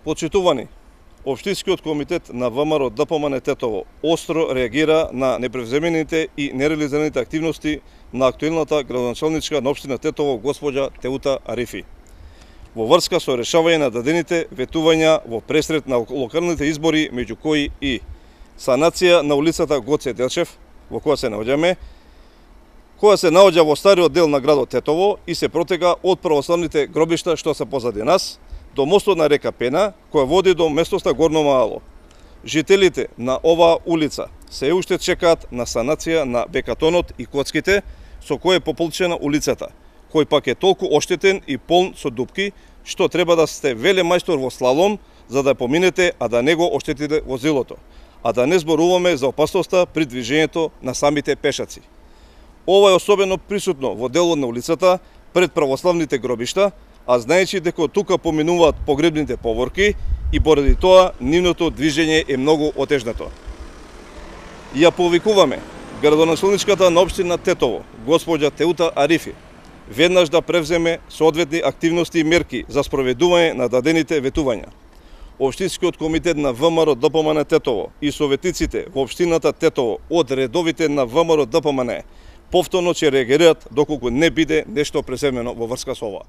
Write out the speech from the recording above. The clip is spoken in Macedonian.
Почитувани, Општинскиот комитет на ВМРО ДПМН Тетово остро реагира на непревземените и нереализираните активности на актуелната градоначалничка на општина Тетово госпоѓа Теута Арифи во врска со решавање на дадените ветувања во пресред на локалните избори, меѓу кои и санација на улицата Гоце Делчев, во која се наоѓаме, која се наоѓа во стариот дел на градот Тетово и се протега од православните гробишта што се позади нас, до мостот на река Пена, која води до местоста Горно Мало. Жителите на оваа улица се уште чекаат на санација на бекатонот и коцките со кој е пополчена улицата, кој пак е толку оштетен и полн со дупки, што треба да сте велемајстор во слалом за да поминете, а да не го оштетите возилото, а да не зборуваме за опасноста при движењето на самите пешаци. Ова е особено присутно во делот на улицата пред православните гробишта, а знаејќи дека тука поминуваат погребните поворки и поради тоа нивното движење е многу отежнато. Ја повикуваме градоначалничката на општина Тетово, госпоѓа Теута Арифи, веднаш да превземе соодветни активности и мерки за спроведување на дадените ветувања. Општинскиот комитет на ВМРО ДПМН Тетово и советниците во општината Тетово од редовите на ВМРО ДПМН повторно ќе реагираат доколку не биде нешто преземено во врска со ова.